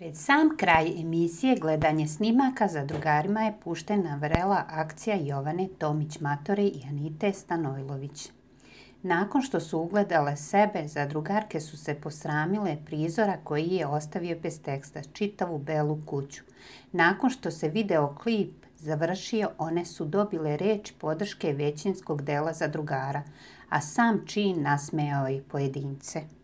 Pred sam kraj emisije Gledanje snimaka zadrugarima je puštena vrela akcija Jovane Tomić-Matore i Anite Stanojlović. Nakon što su ugledale sebe, zadrugarke su se posramile prizora koji je ostavio bez teksta čitavu belu kuću. Nakon što se video klip završio, one su dobile reč podrške većinskog dela zadrugara, a sam čin nasmejao je pojedince.